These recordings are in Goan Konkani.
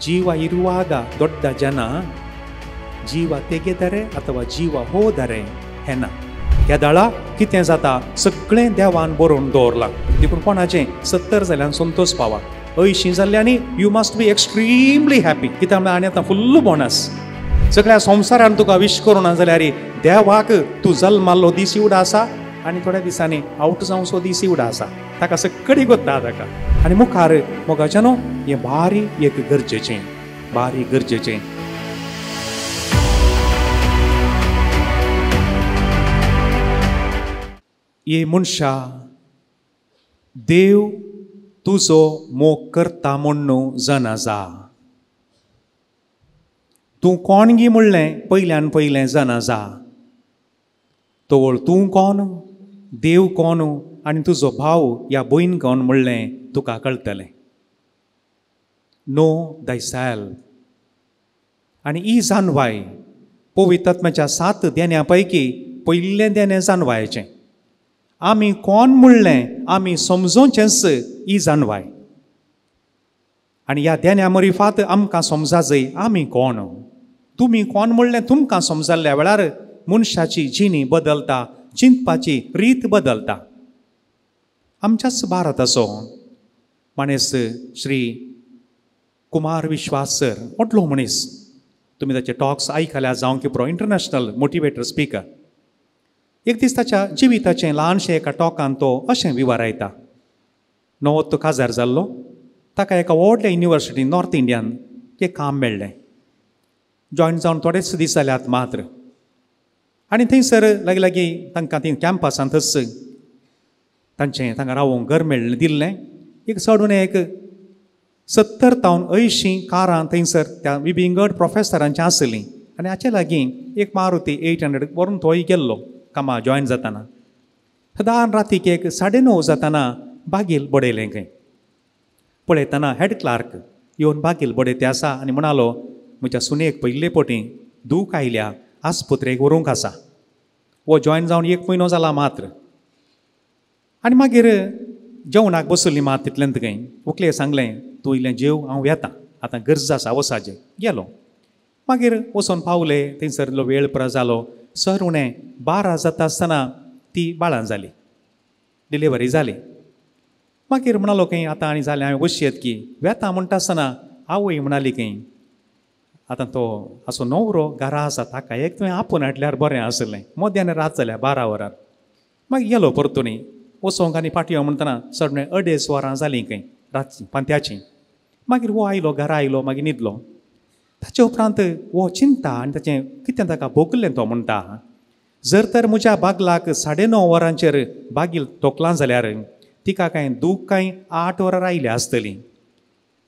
ಜೀವ ಇರುವಾಗ ದೊಡ್ಡ ಜನ, ಜೀವ ತೆಗೆದರೆ ಅಥವಾ ಜೀವ ಹೋದರೆ ಹೆಣ. केदाळा कितें जाता सगळें देवान बरोवन दवरलां. देखून कोणाचें 70 जाल्यान संतोष पावा, 80 जाल्ल्यानी you must be extremely happy. कित्याक म्हळ्यार आनी आतां फुल्ल बोनस. सगळ्या संवसारान तुका विश करूं ना जाल्यार देवाक तूं जल्माल्लो दीस इवडो आसा आनी थोड्या दिसांनी आवट जावचो दीस इवडो आसा. ताका सगळी गोत्ता ताका. आनी मुखार मोगाच्यानो हें भारी एक गरजेचें, भारी गरजेचें. ये मनशा, देव तुजो मोग करता म्हण्णू जाणा जा. तूं कोण गी म्हणलें पयल्यान पयलें जाणा जा. तवळ तूं कोण, देव कोण आनी तुजो भाव या भयण कोण म्हणलें तुका कळटलें. नो दायसेल्फ. आनी ही जाणवाय पवित्र आत्म्याच्या 7 देण्या पैकी पयलें देणें जाणवायचें. आमी कोण म्हणलें आमी समजोवचेंच ही जाणवाय. आनी ह्या देण्या मरिफात आमकां समजा जाय आमी कोण. तुमी कोण म्हणलें तुमकां समजल्ल्या वेळार मनशाची जिणी बदलता, चिंतपाची रीत बदलता. आमच्याच भारताचो माणेस श्री कुमार विश्वास सर, व्हडलो मनीस, तुमी ताचे टॉक्स आयकल्या जावं की पुरो, इंटरनॅशनल मोटिवेटर स्पिकर. एक दीस ताच्या जिविताचें ल्हानशें एका टॉकान तो अशें विवरायता. नवो काजार जाल्लो, ताका एका व्हडल्या युनिवर्सिटी नॉर्थ इंडियान एक काम मेळ्ळें. जॉयन जावन थोडेच दीस जाल्यात मात्र. आनी थंयसर लागीं लागीं तांकां थंय कॅम्पसांतच तांचें तांकां रावोंक घर मेळ्ळें दिल्लें. एक चडून एक 70 तावन 80 कारां थंयसर त्या विविंगड प्रोफेसरांचीं आसलीं. आनी हाचे लागीं एक मारुती 800 व्हरून तोय गेल्लो कामा जॉयन जाताना. सदां रातीक एक 9:30 जाताना बागील बडयलें खंय. पळयतना हेड क्लार्क येवन बागील बडयते आसा आनी म्हणालो, म्हज्या सुनेक पयले पटी दूख आयल्या, आस्पत्रेक व्हरूंक आसा. हो जॉयन जावन 1 म्हयनो जाला मात्र. आनी मागीर जेवणाक बसली मात तितल्यान खंय व्हंकलेक सांगलें, तूं इल्लें जेव, हांव येता, आतां गरज आसा वसाचें. गेलो. मागीर वचोन पावले थंयसर इल्लो वेळ पुरो जालो. सर उणें 12 जाता आसतना ती बाळां जाली, डिलिव्हरी जाली. मागीर म्हणालो खंय आतां आनी जालें हांवें वशयत की वेता म्हणटा आसतना आवय म्हणाली खंय, आतां तो असो न्हवरो घरा आसा, ताका एक तुवें आपोवन हाडल्यार बरें आसलें. मध्यान रात जाल्या 12 वरां. मागीर गेलो परतून वचोंक आनी फाटी म्हणटना चड 2.5 वरां जालीं खंय रातचीं पांत्याचीं. मागीर हो आयलो घरा आयलो, मागीर न्हिदलो. ताचे उपरांत हो चिंता आनी ताचें कितें ताका भोगलें. तो म्हणटा, जर तर म्हज्या बागलाक 9:30 वरांचेर बागील तोकलां जाल्यार तिका कांय दूख कांय 8 वरां आयल्या आसतली.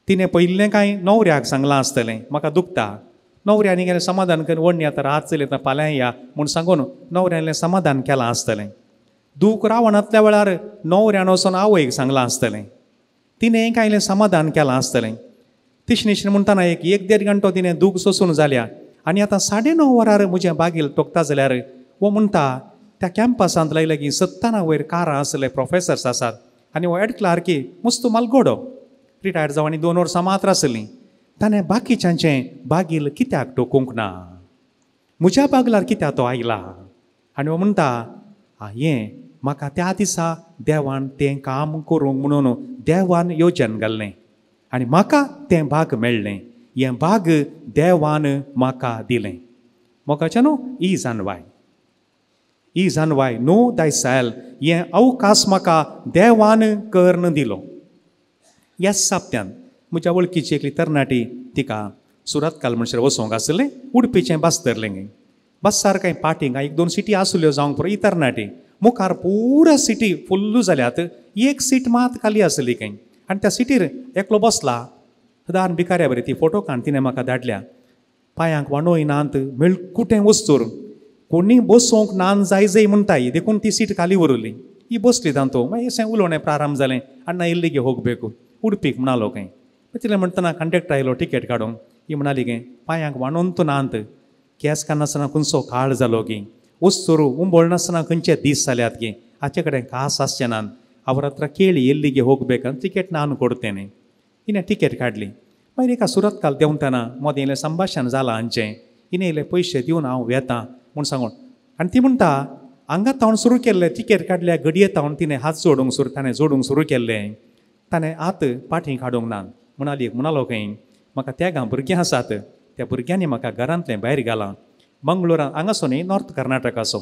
तिणें पयलें कांय न्हवऱ्याक सांगलां आसतलें म्हाका दुखता. न्हवऱ्यानी गेलें समाधान करून वडणी आतां रात चली आतां फाल्यां या म्हूण सांगून न्हवऱ्यान समाधान केलां आसतलें. दूख रावणांतल्या वेळार न्हवऱ्यान वचून आवयक सांगलां आसतलें, तिणें कांय समाधान केलां आसतलें. तिशनिशन म्हणटना एक 1-1.5 घंटो तिणें दूख सोसून जाल्या. आनी आतां 9:30 वरार म्हजें बागील तोकता जाल्यार हो म्हणटा त्या कॅम्पसांत लागीं लागीं 70 वयर कारां आसले प्रोफेसर्स आसात. आनी हो हेड क्लार्की मस्त मालगोडो, रिटायर्ड जावन आनी 2 वर्सां मात्र आसलीं. ताणें बाकीच्यांचें बागील कित्याक टोकूंक ना, म्हज्या बागलार कित्याक तो आयला. आनी हो म्हणटा, हें म्हाका त्या दिसा देवान तें काम करूंक म्हणून देवान योजन घाल्लें आनी म्हाका तें भाग मेळ्ळें. हें भाग देवान म्हाका दिलें. मोगाच्या न्हू ही जाणवाय, ही जाणवाय नो दायसेल्फ, हें अवकाश म्हाका देवान करून दिलो. ह्या साप्त्यान म्हज्या वळखीची एकली तरणाटी, तिका सुरतकाल म्हणसर वचोंक आसलें, उडपीचें बस धरलें. बसार कांय पाटींग 1-2 सिटी आसल्यो जावंक पुरो. ही तरणाटी मुखार पुरा सिटी फुल्ल जाल्यात, एक सीट मात खाली आसली खंय. आनी त्या सिटीर एकलो बसला सदां भिकाऱ्या बरी. ती फोटो काण तिणें म्हाका धाडल्या. पांयांक वाणोय नात, मेळकुटें वस्तूर, कोणी बसोवंक नान जाय जाय म्हणटाय, देखून ती सीट खाली उरली. ही बसली तांतू. मागीर अशें उलोवणें प्रारंभ जालें, अण्णा इल्ली होगबेकू उडपीक म्हणालो खंय. तितलें म्हणटना कंडक्टर आयलो तिकेट काडूंक. ही म्हणाली खंय पांयांक वाणोन तूं नात, केंस काडनासतना खंयचो काळ जालो की, वस्तूर उंबळ नासतना खंयचे दीस जाल्यात की, हाचे कडेन कास आसचे नात, ಅವರ ಹತ್ರ ಕೇಳಿ ಎಲ್ಲಿಗೆ ಹೋಗ್ಬೇಕಂತ ಟಿಕೆಟ್ ನಾನು ಕೊಡ್ತೇನೆ. ಇನ್ನು ಟಿಕೆಟ್ ಕಾಡಲಿ. मागीर एका सुरतकाल देंवतना मदें इल्लें संभाशण जालां हांचें, हिणें इल्ले पयशे दिवन हांव वेतां म्हूण सांगून. आनी ती म्हणटा हांगा तावन सुरू केल्लें, तिकेट काडल्या घडये तावन तिणें हात जोडूंक सुरू, ताणें जोडूंक सुरू केल्लें, ताणें हात पाटी काडूंक ना. म्हणाली म्हणालो खंय म्हाका तेगां भुरगीं आसात, त्या भुरग्यांनी म्हाका घरांतलें भायर घालां. मंगळुरान हांगासो न्ही नॉर्थ कर्नाटकाचो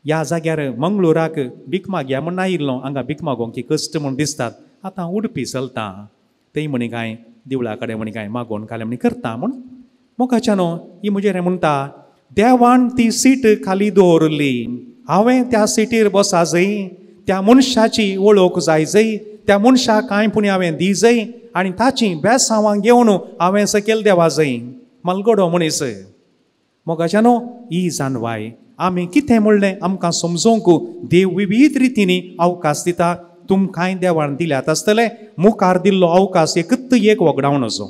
ह्या जाग्यार मंगळुराक भीक मागया म्हूण आयिल्लो, हांगा भीक मागोवंक की कश्ट म्हूण दिसतात, आतां उडपी चलता थंय म्हणी कांय देवळा कडेन म्हणी कांय मागोवन खालें म्हणी करता म्हूण. मोगाच्यानो ही म्हजेर म्हणटा देवान ती सीट खाली दवरली, हांवें त्या सिटीर बसा जय, त्या मनशाची वळख जाय जय, त्या मनशाक कांय पूण हांवें दी जय आनी ताची बेसांवां घेवन हांवें सकयल देवा जय. मलगडो मनीस. मोगाच्यानो ही जाणवाय आमी कितें म्हणलें आमकां समजोवंक देव विविध रितींनी अवकाश दिता. तुमकांय देवान दिल्यात आसतले, मुखार दिल्लो अवकाश एकूच एक वगडावन असो.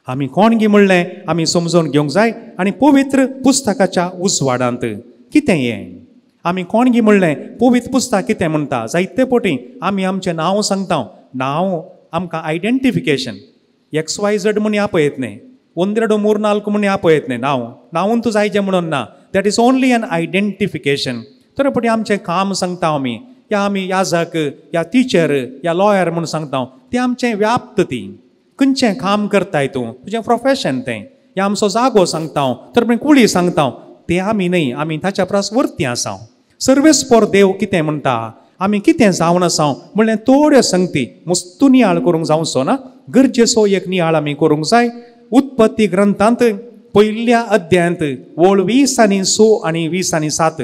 आमी कोण गी म्हणलें आमी समजून घेवंक जाय. आनी पवित्र पुस्तकाच्या उजवाडांत कितें हें आमी कोण गी म्हणलें, पवित्र पुस्तक कितें म्हणटा. जायते पटी आमी आमचें नांव सांगता, नांव आमकां आयडेंटिफिकेशन एक्स वाय झड म्हूण आपयत न्ही, 1 2 3 4 म्हूण आपयत न्ही, नांव नांवून तूं जायचें म्हणून ना, that is only an identification. तर पटी आमचें काम सांगता आमी, या आमी याजक या टिचर या लॉयर म्हूण सांगता, तें आमचें व्याप्त, ती खंयचें काम करताय तूं, तुजें प्रोफेशन तें, या आमचो जागो सांगता, तर पळय कुळी सांगता, तें आमी न्ही, आमी ताच्या परस वरती आसा. सर्वेस्पोर देव कितें म्हणटा, आमी कितें जावन आसा म्हणल्यार थोड्यो संगती मुस्तू नियाळ करूंक जावचो ना, गरजेचो एक नियाळ आमी करूंक जाय. उत्पत्ती ग्रंथांत पयल्या अध्यायांत वळ 20 आनी 6 आनी 20 आनी 7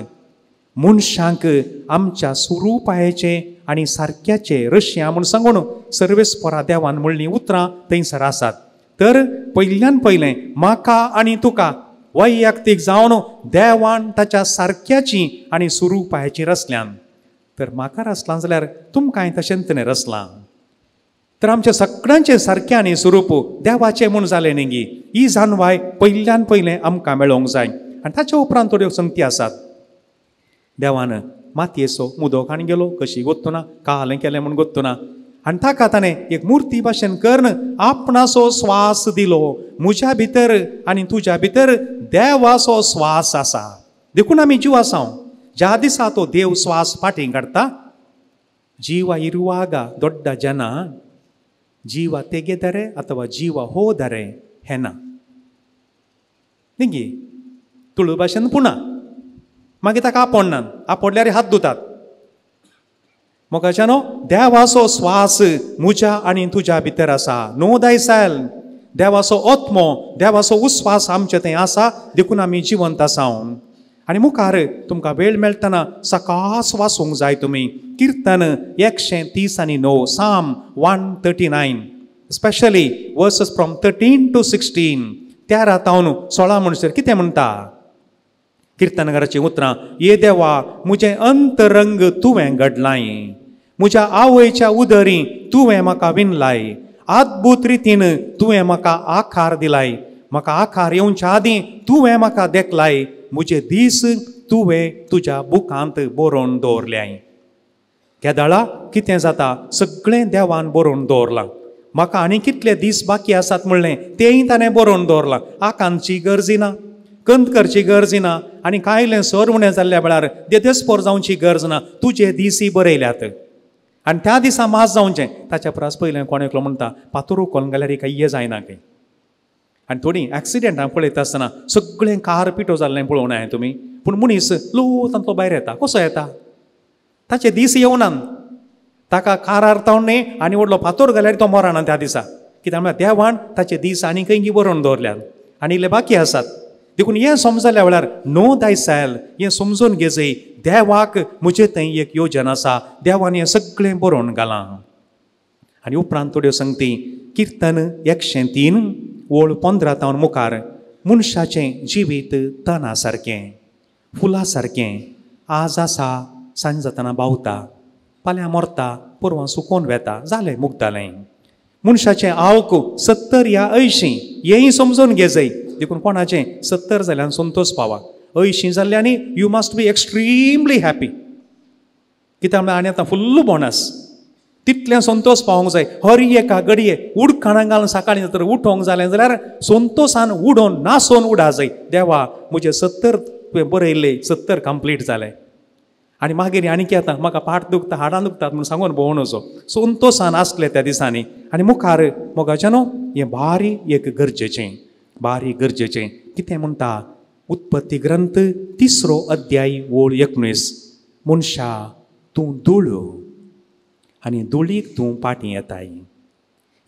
मनशांक आमच्या स्वरुपायेचे आनी सारक्याचे रशिया म्हूण सांगून सर्वेस्पोरा देवान म्हणलीं उतरां थंयसर आसात. तर पयल्यान पयलें म्हाका आनी तुका वैयक्तीक जावन देवान ताच्या सारक्याची आनी स्वरुपायेची रचल्यान. तर म्हाका रचलां जाल्यार तुमकांय तशेंच तिणें रचलां. तर आमच्या सगळ्यांचें सारकें आनी स्वरूप देवाचें म्हूण जालें न्ही गी. ही जाणवाय पयल्यान पयलें आमकां मेळोवंक जाय. आनी ताच्या उपरांत थोड्यो संगती आसात. देवान मातयेचो मुदो काण गेलो, कशी गोत्तुना कालें केलें म्हूण गोत्तुना, आनी ताका ताणें एक मुर्ती भाशेन करून आपणाचो स्वास दिलो. म्हज्या भितर आनी तुज्या भितर देवाचो स्वास आसा, देखून आमी जीव आसा. ज्या दिसा तो देव स्वास फाटीं काडटा, जीव इरुवागा दोड्ड जना जीव तेगेदरे अथवा जीव होदरे हेना न्ही तुळू भाशेन पुणा मागीर ताका आपोडनात, आपोडल्यार हात धुतात. मोगाच्यानो देवाचो स्वास म्हज्या आनी तुज्या भितर आसा. नो दायसायल देवाचो आत्मो देवाचो उस्वास आमचे थंय आसा, देखून आमी जिवंत आसा. आनी मुखार तुमकां वेळ मेळटना सकास वाचूंक जाय तुमी किर्तन 130 आनी 9, Psalm 139, specially verses from 13 to 16, 13 तावन 16 म्हणसर कितें म्हणटा किर्तनकाराचीं उतरां, ये देवा म्हजें अंतरंग तुवें घडलाय, म्हज्या आवयच्या उदरी तुवें म्हाका विणलाय, अद्भुत रितीन तुवें म्हाका आकार दिलाय, म्हाका आकार येवच्या आदीं तुवें म्हाका देखलाय, म्हजे दीस तुवें तुज्या बुकांत बरोवन दवरल्याय. केदाळा कितें जाता, सगळें देवान बरोवन दवरलां. म्हाका आनी कितले दीस बाकी आसात म्हणलें तेंय ताणें बरोवन दवरलां. आकांतची गरज ना, कंत करची गरज ना, आनी कांयलें सर उणें जाल्ल्या वेळार देदेस्पोर जावची गरज ना. तुजे दीसय बरयल्यात आनी त्या दिसा मास जावचें. ताच्या परस पयलें कोण एकलो म्हणटा पातोर उखलून घाल्यार कांय जायना खंय. आनी थोडीं एक्सिडेंटां पळयता आसतना सगळें कार पिठो जाल्लें पळोवना हांवें तुमी, पूण मनीस लो तांतलो भायर येता. कसो येता? ताचे दीस येवनात, ताका कारार तावन न्ही आनी व्हडलो फातोर घाल्यार तो मरना त्या दिसा. कित्याक म्हळ्यार देवान ताचे दीस आनी खंय बरोवन दवरल्यात आनी इल्ले बाकी आसात. देखून हें समजल्या वेळार नो दायसायल हें समजून घेजय, देवाक म्हजे थंय एक योजन आसा, देवान हें सगळें बरोवन घालां. आनी उपरांत थोड्यो संगती किर्तन 103 ओळ 15 तावन मुखार, मनशाचें जिवीत तना सारकें फुलां सारकें, आज आसा सांज जातना बावता, फाल्यां मरता, परवां सुकोवन वेता, जालें मुगतालें. मनशाचें आवक 70 या 80 हेंय समजून घेजय. देखून कोणाचें 70 जाल्यान संतोष पावा, 80 जाल्ल्यानी you must be extremely happy. कित्याक म्हळ्यार आनी आतां फुल्ल बोनस. तितलें संतोष पावोंक जाय. हर एका घडये उडकाणां घालून सकाळीं तर उठोंक जालें जाल्यार संतोशान उडोवन नासोन उडा जाय. देवा म्हजें 70 तुवें बरयल्लें 70 कंप्लीट जालें आनी मागीर आनी आतां म्हाका पाट दुखता हाडां दुखतात म्हूण सांगून भोंवून वचो. संतोशान आसले त्या दिसांनी. आनी मुखार मोगाच्यानो हें भारी एक गरजेचें, भारी गरजेचें. कितें म्हणटा उत्पत्ती ग्रंथ 3 अध्याय ओळ 19, मनशा तूं धूळ आनी धुळीक तूं पाटी येताय.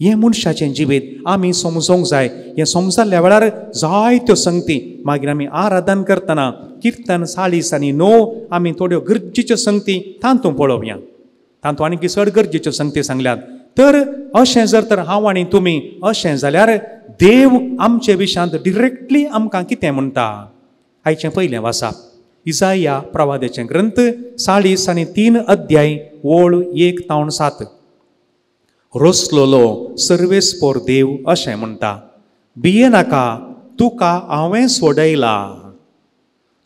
हें मनशाचें जिवीत आमी समजोंक जाय. हें समजल्ल्या वेळार जायत्यो संगती मागीर आमी आराधन करतना किर्तन 40 आनी 9 आमी थोड्यो गरजेच्यो संगती तातूंत पळोवया. तातूंत आनीक चड गरजेच्यो संगती सांगल्यात. तर अशें जर तर हांव आनी तुमी अशें जाल्यार देव आमचे विशांत डिरेक्टली आमकां कितें म्हणटा? आयचें पयलें वाचप इजाया प्रवाद्याचें ग्रंथ 40 आनी 3 अध्याय ओळ 1 तावन 7. रोसलोलो सर्वेस्पोर देव अशें म्हणटा, भिये नाका, तुका हांवें सोडयला,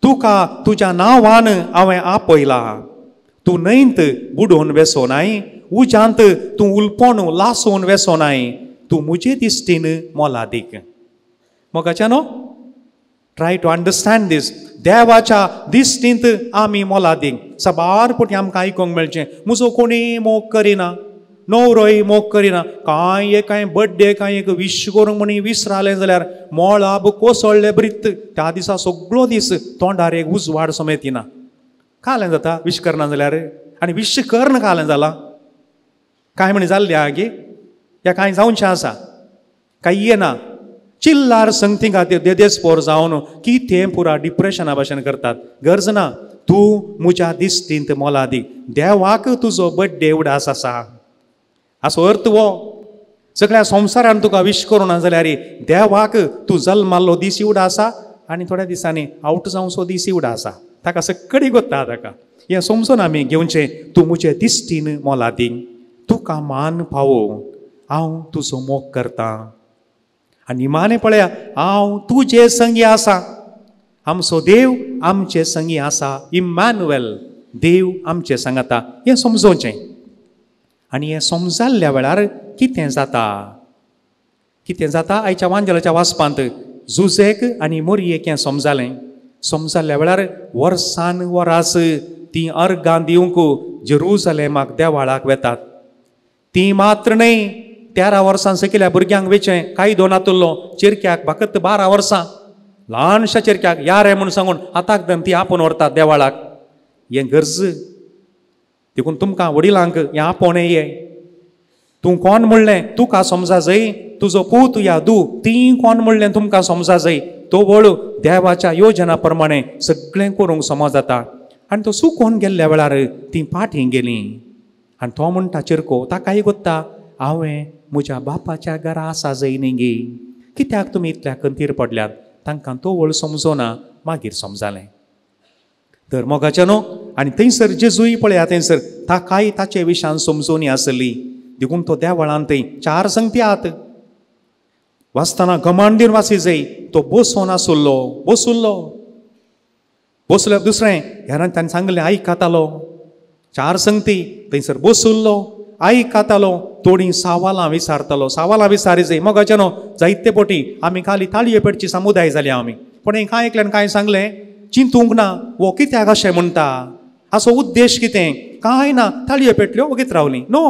तुका तुज्या नांवान हांवें आपयला. तूं न्हंयत बुडोवन वेसोनाय, उज्यांत तूं उलपोण लासोवन वेसोनाय, तूं म्हजे दिश्टीन मोलादीक. मोगाच्यानो ट्राय टू अंडरस्टँड दीस. देवाच्या दिश्टींत आमी मोलादीक. साबार पटी आमकां आयकूंक मेळचें म्हजो कोणी मोग करिना, न्हवरोय मोग करिना, कांय एक कांय बड्डे कांय एक विश करूंक म्हण विसरालें जाल्यार मोळाब कोसळ्ळें ब्रित त्या दिसा सगळो दीस तोंडार एक उजवाड समेत येना. कालें जाता विश करना जाल्यार आनी विश करन कालें जालां कांय म्हण जाल्लें आगे ह्या कांय जावचें आसा कांय येना. चिल्लार संगती खातीर देदेस्पोर जावन कितें पुरा डिप्रेशना भाशेन करतात. गरज ना, तूं म्हज्या दिश्टींत मोलादीक. देवाक तुजो बड्डे उडास आसा असो अर्थ हो. सगळ्या संवसारान तुका विश करूं ना जाल्यार देवाक तूं जल्माल्लो दीस उडा आसा आनी थोड्या दिसांनी आवट जावचो दीस उडा आसा. ताका सगळी गोत्ता ताका हें समजून आमी घेवचें. तूं म्हजे दिश्टीन मोलादीक, तुका मान पावो, हांव तुजो मोग करतां. आनी निमाणें पळया हांव तुजे संगी आसा. आमचो देव आमचे संगी आसा, इम्मानुएल देव आमचे सांगाता. हें समजोवचें. आनी हें समजाल्ल्या वेळार कितें जाता? कितें जाता आयच्या वांजेलाच्या वाचपांत जुजेक आनी मोरयेक हें समजालें. समजाल्ल्या वेळार वर्सान वरास तीं अर्गां दिवंक जेरुजलेमाक देवाळाक वेतात. तीं मात्र न्हय, 13 वर्सां सकयल्या भुरग्यांक वेचें कायदो नातुल्लो. चेरक्याक फकत 12 वर्सां, ल्हानशा चेरक्याक या रे म्हूण सांगून हाताक धरून ती आपोवन व्हरतात देवाळाक. हें गरज. देखून तुमकां वडिलांक हें आपोवणें ये. तूं कोण म्हणलें तुका समजा जाय, तुजो पूत या दू तीं कोण म्हणलें तुमकां समजा जाय. तो वळू देवाच्या योजना प्रमाणे सगळें करूंक समज जाता. आनी तो सुकोवन गेल्ल्या वेळार तीं फाटीं गेलीं. आनी तो म्हणटा चिरको ताकाय गोत्ता हांवें म्हज्या बापाच्या घरा आसा जाय न्ही गे, कित्याक तुमी इतल्या खंतीर पडल्यात? तांकां तो वळ समजोना, मागीर समजालें. तर मोगाच्यानो आनी थंयसर जेजूय पळया थंयसर ताकाय ताचे विशान समजोनी आसली. देखून तो देवळान थंय 4 संगती आत वाचतना कमांड दिवन वाची जाय. तो बसोन आसुल्लो, बसुल्लो बसलो. दुसरें हेरान ताणें सांगलें आयकतालो. 4 संगती थंयसर बसुल्लो, आयकतालो, थोडीं सवालां विचारतालो. सवालां विचारी जाय. मोगाच्यानो जायते पटी आमी खाली ताळये पेटची समुदाय जाली आमी. पूण हें कांय एकल्यान कांय सांगलें चिंतूंक ना वो कित्याक अशें म्हणटा, असो उद्देश कितें कांय ना. ताळयो पेटल्यो वगीत रावलीं. नो,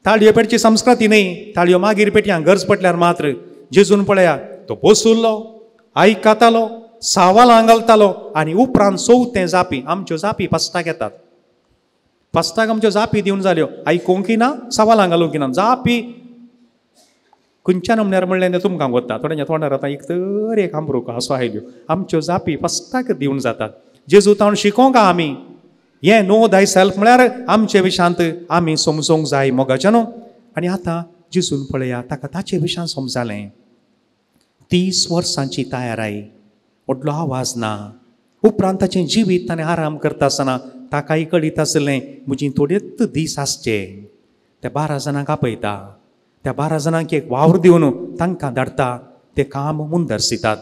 ताळयो पेटची संस्कृती न्हय. ताळयो मागीर पेटयां गरज पडल्यार मात्र. जेजून पळया तो बसुल्लो, आयकतालो, सवालां घालतालो आनी उपरांत चवथें जापी. आमच्यो जापी पस्ताक येतात. पस्ताक आमच्यो जापी दिवन जाल्यो. आयकूंक ना, सवालां घालूंक ना, जापी खंयच्यान म्हणल्यार म्हणलें तें तुमकां वता. थोड्यांच्या तोंडार आतां एक तर एक आमरूक असो आयल्यो. आमच्यो जापी फस्ताक दिवन जातात. जेजू तावन शिकोंक आमी हें नो दाय सेल्फ म्हळ्यार आमचे विशांत आमी समजोंक जाय मोगाच्या न्हू. आनी आतां जेजून पळया ताका ताचे विशांत समजालें. 30 वर्सांची तयाराय, व्हडलो आवाज ना. उपरांत ताचें जिवीत ताणें आराम करता आसतना ताकाय कळीत आसलें म्हजी थोडेच दीस आसचे. त्या 12 जाणांक आपयता, त्या 12 जाणांक एक वावर दिवन तांकां धाडटा, ते काम मुंदरसितात.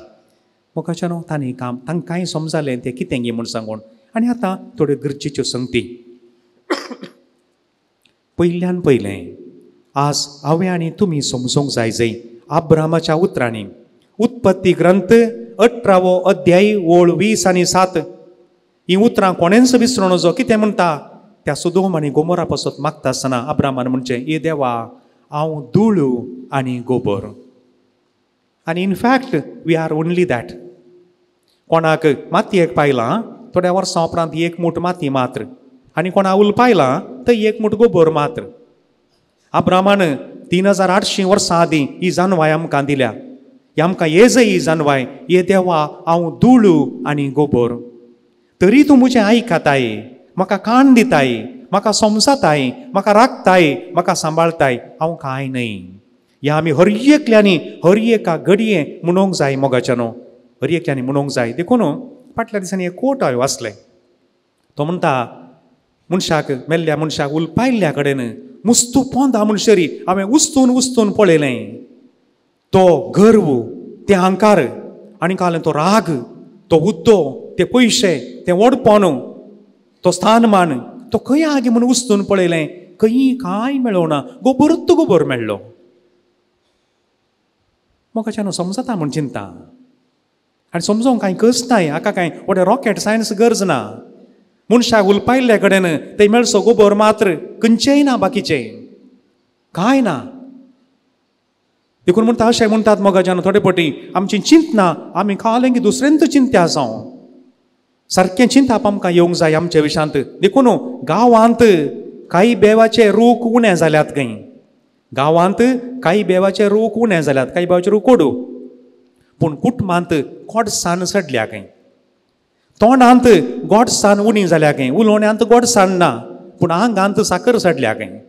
मोगाच्या न्हू तांणी काम तांकांय समजालें तें कितें गी म्हूण सांगून. आनी आतां थोड्यो गरजेच्यो संगती. पयल्यान पयलें आज हांवें आनी तुमी समजूंक जाय जंय अब्रामाच्या उतरांनी उत्पत्ती ग्रंथ 18वो अध्याय ओळ 20 आनी 7 ही उतरां कोणेंच विसरूं नजो. कितें म्हणटा? त्या सुदोम आनी गोमोरा पासत मागता आसतना अब्रामान म्हणचें, ए देवा, हांव धूळ आनी गोबर. आनी in fact we are only that. कोणाक मातयेक पायलां थोड्या वर्सां उपरांत एक मूठ माती मात्र, आनी कोणा उलपायलां थंय एक मूठ गोबर मात्र. अब्रामान 3800 वर्सां आदीं ही जानवाय आमकां दिल्या. ही आमकां येजय ही जानवाय, ये देवा हांव धूळ आनी गोबर, तरी तूं म्हजें आयकताय, म्हाका कान दिताय, म्हाका समजताय, म्हाका राखताय, म्हाका सांबाळताय, हांव कांय न्हय. ह्या आमी हर एकल्यांनी हर एका घडये म्हणूंक जाय मोगाच्यानो, हर एकल्यांनी म्हणूंक जाय. देखून फाटल्या दिसांनी एक कोट हांवें वाचलें. तो म्हणटा, मनशाक मेल्ल्या मनशाक उलपायल्ल्या कडेन मुस्तू पोंदा म्हणसरी हांवें उस्तून उस्तून पळयलें. तो गर्व, ते अहंकार, आनी कालें तो राग, तो हुद्दो, ते पयशे, ते व्हडपण, तो स्थानमान, तो खंय आगे म्हूण उस्तून पळयलें, खंय कांय मेळोना, गोबरूच गोबर मेळ्ळो. मोगाच्यान समजता म्हूण चिंता आनी समजोंक कांय कस नाय, हाका कांय व्हडलें रॉकेट सायन्स गरज ना. मनशाक उलपायल्ल्या कडेन थंय मेळचो गोबर मात्र, खंयचेय ना, बाकीचें कांय ना. देखून म्हणटा अशें म्हणटात मोगाच्यान थोडे पटी आमची चिंतना आमी खालें की दुसऱ्यांत चिंत्या जावं, सारकें चिंताप आमकां येवंक जाय आमच्या विशांत. देखून गांवांत कांय बेवाचे रूख उणें जाल्यात खंय, गांवांत कांय बेवाचे रूख उणें जाल्यात, कांय बेवाचे रूख कोडू, पूण कुटुंबांत गोडसाण चडल्या खंय, तोंडांत गोडसाण उणी जाल्या खंय, उलोवण्यांत गोडसाण ना, पूण आंगांत साकर चडल्या खंय.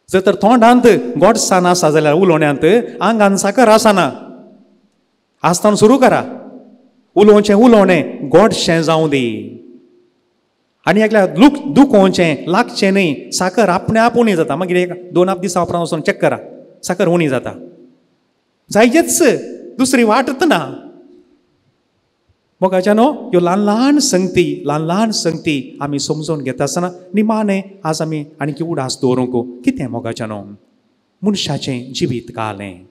जर तर तोंडांत गोडसाण आसा जाल्यार उलोवण्यांत आंगान साकर आसना. आसतना सुरू करा उलोवचें, उलोवणें गोडशें जावं दी, आनी एकल्या लूक दुखोवचें लागचें न्हय. साकर आपणे आप उणी जाता, मागीर एक 2 दिसां उपरांत वचून चॅक करा, साकर उणी जाता जायजेच, दुसरी वाटत ना. मोगाच्यानो ह्यो ल्हान ल्हान संगती, ल्हान ल्हान संगती आमी समजून घेता आसतना निमाणें आज आमी आनी उडास दवरूंक कितें मोगाच्यानो, मनशाचें जिवीत कालें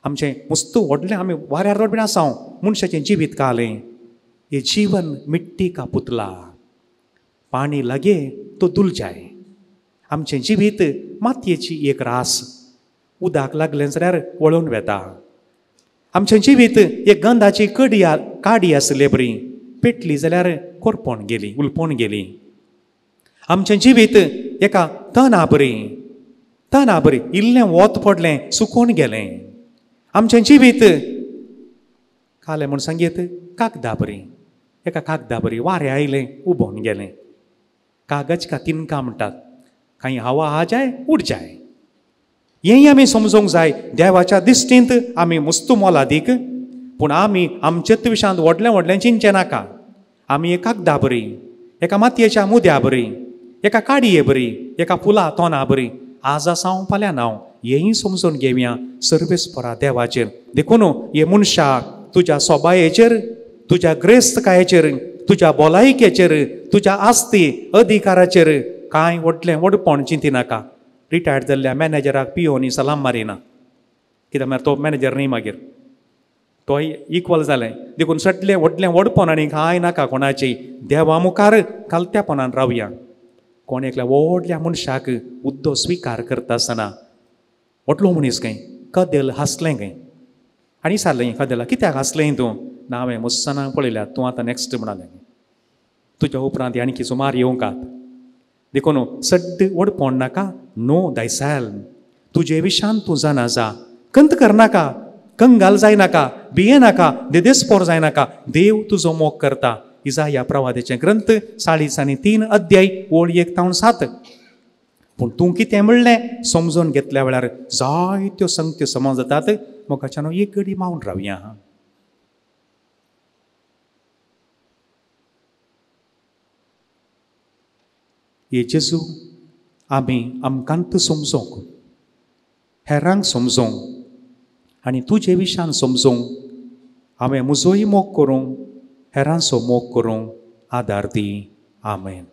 आमचें मुस्तू व्हडलें, आमी वाऱ्यार रोड बीन आसा, मनशाचें जिवीत कालें हे जीवन मिट्टी का पुतला, पाणी लागे तो दुल जाय. आमचें जिवीत मातयेची एक रास, उदक लागलें जाल्यार वळोवन वेता. आमचें जिवीत एक गंधाची कडी काडी आसले बरी, पेटली जाल्यार कोरपोण गेली, उलपोण गेली. आमचें जिवीत एका तना बरी, तना बरी इल्लें वत पडलें सुकोवन गेलें. आमचें जिवीत कालें म्हूण सांगीत कागदा बरी, एका कागदा बरी वारें आयलें उबोवन गेलें. कागज का तिनका म्हणटात, कांय हवा आ जाय उड जाय. हेंय आमी समजूंक जाय. देवाच्या दिश्टींत आमी मुस्तू मोलादीक, पूण आमी आमचेच विशांत व्हडलें व्हडलें चिंतचें नाका. आमी एका कागदा बरी, एका मातयेच्या मुद्या बरी, एका काडये बरी, एका फुलां तोंडा बरी आज आसा हांव फाल्यां ना, हेंय समजून घेवया सर्वेस्परा देवाचेर. देखून हे मनशा तुज्या सोबायेचेर, तुज्या ग्रेस्तकायेचेर, तुज्या भलायकेचेर, तुज्या आस्ती अधिकाराचेर कांय व्हडलें व्हडपण चिंती नाका. रिटायर्ड जाल्ल्या मॅनेजराक पियोनी सलाम मारिना, कित्याक म्हळ्यार तो मॅनेजर न्ही, मागीर तोय इक्वल जालें. देखून सगळें व्हडलें व्हडपण आनी कांय नाका कोणाची, देवा मुखार खालत्यापणान रावया. कोण एकल्या व्हडल्या मनशाक हुद्दो स्विकार करता आसतना व्हडलो मनीस खंय कदेल हांसलें खंय आनी सारलें कदेला, कित्याक हांसलें तूं? ना हांवें मुस्सनाक पळयल्या, तूं आतां नॅक्स्ट म्हणालें, तुज्या उपरांत आनी सुमार येवंकात. देखून सड्ड व्हडपण नाका, नो दायसायल, तुजे विशान तूं जाणा जा, कंत करनाका, कंगाल जायनाका, भियेनाका, देदेस्पोर जायनाका, देव तुजो मोग करता. इजाया प्रवादाचे ग्रंथ 43 अध्याय ओळ 1 ते 7. पूण तूं कितें म्हणलें समजून घेतल्या वेळार जायत्यो संगत्यो समज जातात. मोगाच्यान एक घडी मावन रावया. हे जेजू, आमी आमकांत समजोंक, हेरांक समजोंक आनी तुजे विशान समजोंक हांवें म्हजोय मोग करूंक, हेरांचो मोग करूंक आदार दी. आमेन.